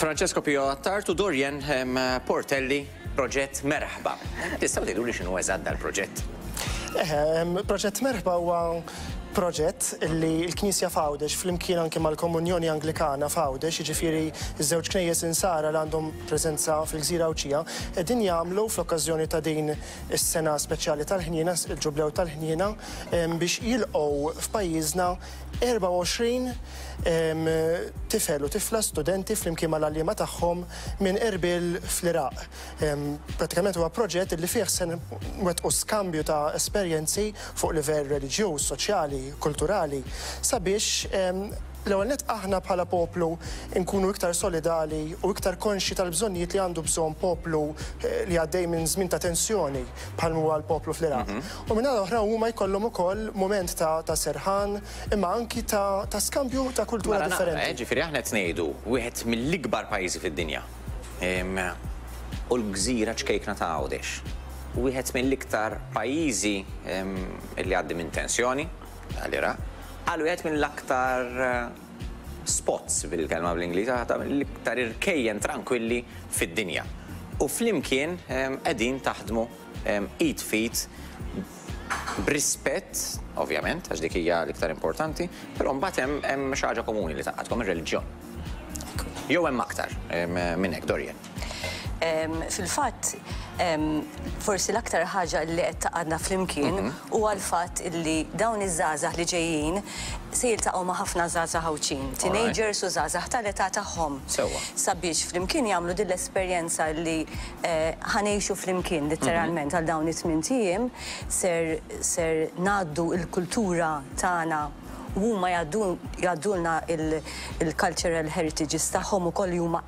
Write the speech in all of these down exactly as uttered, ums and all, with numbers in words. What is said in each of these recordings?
Francesco Pio Attard u Dorian em, Portelli, Proġett Merħba. Tistgħu tgħidu li x'inhu eżatt dal-proġett? Eħe, em, Proġett Merħba huwa proġett li l-Knisja f'Għawdex flimkien anke mal-Komunjoni Anglikana f'Għawdex, jiġifieri ż-żewġ knejjes insara li għandhom preżenza fil-Gżira Għawdxija, qegħdin jagħmlu fl-okkażjoni ta' din is-sena speċjali tal-ħniena, il-Ġublew tal-Ħniena, em, biex jilqgħu f'pajjiżna erbgħa u għoxrin em, tifel u tifla studenti flimkien mal-għalliema tagħhom minn Erbil fl-Iraq. Em, Pratikament huwa proġett li fih se nwettqu skambju ta' esperjenzi fuq livell reliġjuż, soċjali, kulturali, sabiex em, l-ewwel nett aħna bħala poplu nkunu iktar solidali u iktar konxi tal-bżonnijiet li għandu bżonn poplu eh, li għaddej minn żmien ta' tensjoni bħal huwa l-poplu fl-Iraq. U minn oħra huma jkollhom ukoll mument ta', ta' serħan, imma anki ta', ta' skambju ta' kultura Mela naqra, eh, differenti. Ġifieri aħna qed ngħidu wieħed mill-ikbar pajjiżi fid-dinja. Em, U l-gżira ċkejkna ta' Għawdex. Wieħed mill-iktar pajjiżi em, li għaddi minn tensjoni, għal-Iraq, għal wieħed mill-aktar eh, spots, bil-kelma bl-Ingliż, għata mill-iktar irkejjen tranquilli fid-dinja. U flimkien em, qegħdin taħdmu em, id f'id b'rispett, ovvjament, għax dik hija l-iktar importanti, però mbagħad hemm hemm xi ħaġa komuni li tgħaqqadkom, ir-reliġjon. Jew hemm aktar em, minn hekk, Dorian? Em, Fil-fatt, em, forsi l-aktar ħaġa li qed tgħaqqadna flimkien huwa l-fatt illi dawn iż-żgħażagħ li ġejjin se jiltaqgħu ma' ħafna żgħażagħ Għawdxin, teenagers u żgħażagħ tal-età tagħhom. Sewwa. Sabiex flimkien jagħmlu din l-esperjenza li eh, ħa ngħixu flimkien letteralment għal dawn it-tmien ijiem, ser ser ngħaddu il-kultura tagħna u huma jgħaddulna il-cultural heritages tagħhom ukoll, li huma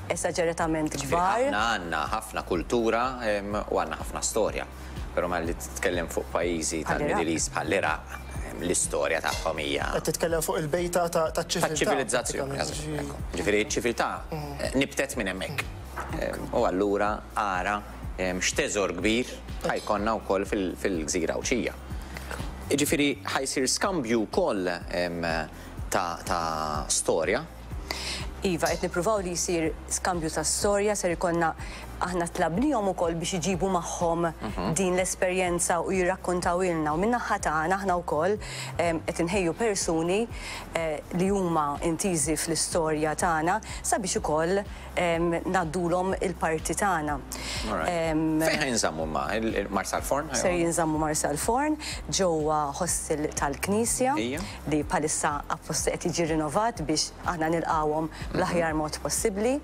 esaġeratament Ġifieri kbar. aħna għandna ħafna kultura em, u għandna ħafna storja. Però ma li titkellem fuq pajjiżi tal-Middle East bħall-Iraq, em, l-istorja tagħhom hija Qed titkellem fuq il-bejta ta' ta' ċiviltà. ta' ċivilizzazzjoni. Pratikament. Ekku. Ġifieri ċ-ċiviltà eh, nibtet minn hemmhekk. Em, U allura ara em, x'teżor kbir ħa jkollna wkoll fil- fil-gżira Għawdxija. Ġifieri ħa jsir skambju wkoll em, ta' ta' storja. Iva, qed nippruvaw li jsir skambju ta' storja, ser ikollna, aħna tlabnihom ukoll biex iġibu magħhom din l-esperjenza u jirrakkontaw ilna, u min-naħa tagħna aħna wkoll em, qed inħejju persuni eh, li huma intiżi fl-istorja tagħna sabiex ukoll em, ngħaddulhom il-parti tagħna. Alright. Em, Fejn ħa jinżammu ma? Il-Marsalforn? Ser jinżammu Marsalforn, ġewwa hostel tal-Knisja Ija. li bħalissa apposta qed jiġi rinnovat biex aħna nilqawhom bl-aħjar mod possibbli.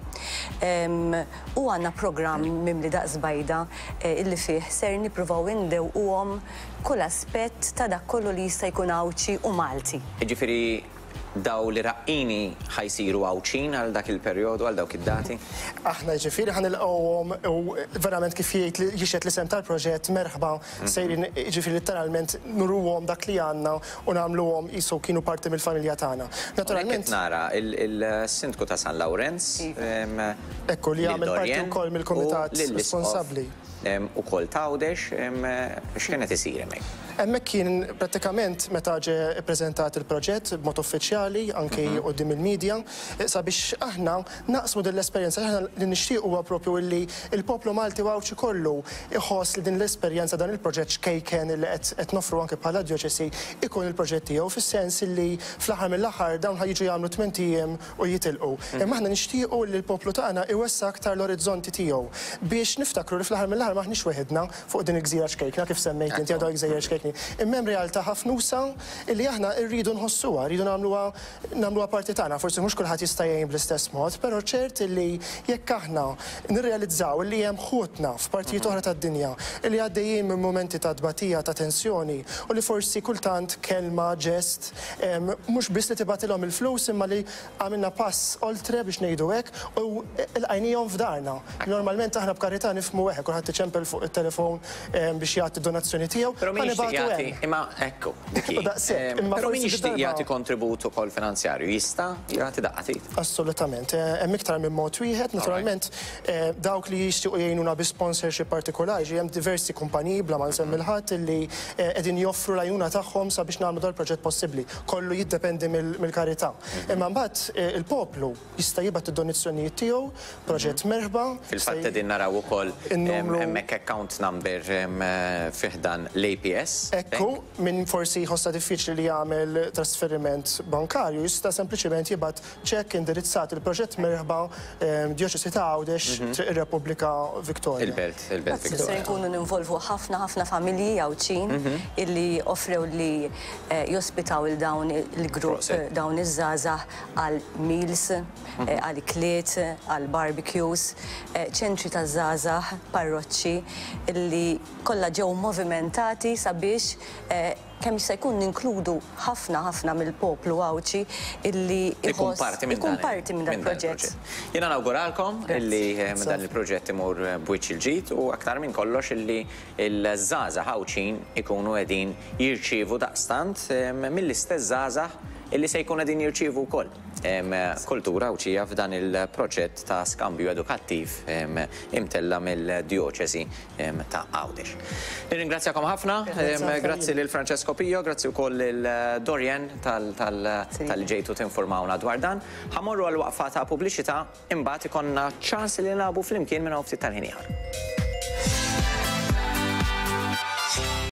Em, U għandna programm mimli daqs bajda eh, illi fih ser nippruvaw indewquhom kull aspett ta' dak kollu li jista' jkun Għawdxi u Malti. Ġifieri daw l-Iraqqini ħa jsiru Għawdxin għal dak il-perjodu, għal dawk id-dati? Aħna ġifieri ħa nilqgħuhom u verament, kif jgħid li jixhed l-isem tal-proġett Merħba, sejrin ġifieri letteralment nuruhom dak li għandna u nagħmluhom qisu kienu parti mill-familja tagħna. Naturalment. Naturalment, Nara il-sindku ta' San Lawrenz. Iva. Em, Ekku, li lil jagħmel parti Dorian wkoll mill-kumitat u lill-Isqof, responsabbli. em, Ukoll t'Għawdex, em, x'kienet isir hemmhekk? Hemmhekk kien pratikament meta ġie ppreżentat il-proġett b'mod uffiċjali anke quddiem il-medja, eh, sabiex aħna naqsmu din l-esperjenza. Aħna li nixtieq huwa propju illi il-poplu Malti u Għawdxi kollu iħoss li din l-esperjenza, dan il-proġett ċkejken li qed qed noffru anke bħala djoċesi, ikun il-proġett tiegħu, fis-sens illi fl-aħħar mill-aħħar dawn ħa jiġu jagħmlu tmien ijiem u jitilqu. Imma aħna nixtiequ li l-poplu tagħna iwessa aktar l-orizzonti tiegħu biex niftakru li fl-aħħar mill-aħħar maħniex weħidna fuq din il-gżira ċkejkna, kif semmejt inti, għadu gżejjer ċkejkni. Imma hemm realtà ħafna usa' illi aħna rridu nħossuha, rridu nagħmluha nagħmluha parti tagħna. Forsi mhux kulħadd jista' jgħin bl-istess mod, però ċert illi jekk aħna nirrealizzaw illi hemm ħutna f'partijiet oħra tad-dinja illi għaddejjin minn momenti ta' tbatija, ta' tensjoni, u li forsi kultant kelma, ġest, em, mhux biss li tibgħatilhom il-flus, imma li għamilna pass oltre, biex ngħidu hekk, u lqajnihom f'darna. Normalment aħna b'karità nifhmu hekk, kulħadd iċempel fuq it-telefon em, biex jagħti donazzjoni tiegħu. Però Ħa mhijiex nibagħtu jixtieq jagħti, imma ekku, dik hi. U daqshekk, imma Però min forsi jixtieq darba- jagħti kontribut ukoll finanzjarju, jista' jagħti daqqa t'id? Assolutament. Eh, Hemm iktar minn mod wieħed, naturalment, eh, dawk li jixtiequ jgħinuna bi sponsorship partikolari, ġi hemm diversi kumpaniji, bla ma nsemmi l-ħadd, illi eh, qegħdin joffru l-għajnuna tagħhom sabiex nagħmlu dal-proġett possibbli. Kollu jiddependi mill- mill-karità. Imma mbagħad eh, il-poplu jista' jibgħat id-donazzjonijiet tiegħu, Proġett Merħba. Fil-fatt jista' qegħdin naraw ukoll In-numru- hemmhekk account number em, eh, fi ħdan l-A P S. Ekku, min forsi jħossa diffiċli li jagħmel trasferiment bankarju, jista' sempliċement jibgħat ċekk indirizzat il-Proġett Merħba, eh, Djoċesi ta' Għawdex, Triq ir-Repubblika, Victoria. Il-Belt, il-Belt Se Victoria. nkunu ninvolvu ħafna ħafna familji Għawdxin illi offrew li eh, jospitaw il dawn il-grupp, Prosit. dawn iż-żgħażagħ għal meals, eh, għal ikliet, għal barbecues, eh, ċentri ta' żgħażagħ, parroċċi illi kollha ġew movimentati sabiex eh, kemm jista' jkun ninkludu ħafna ħafna mill-poplu Għawdxi illi Ikun iħoss- parti minn ikun dan parti minn dan il-proġett. Jiena nawguralkom illi eh, Grazzi. dan il-proġett imur b'wiċċ il-ġid u aktar minn kollox illi il-żgħażagħ Għawdxin ikunu qegħdin jirċievu daqstant eh, mill-istess żgħażagħ illi se jkunu qegħdin jirċievu wkoll em, kultura Għawdxija f'dan il-proġett ta' skambju edukattiv em, imtella mill-djoċesi em, ta' Għawdex. Nirringrazzjakom ħafna, em, grazzi lil Francesco Pio, grazzi wkoll lil Dorian tal- tal- tal-ġejtu tinformawna dwar dan. Ħa mmorru għal waqfa ta' pubbliċità, imbagħad ikollna ċans li nilagħbu flimkien minn hawn ftit tal-ħin ieħor.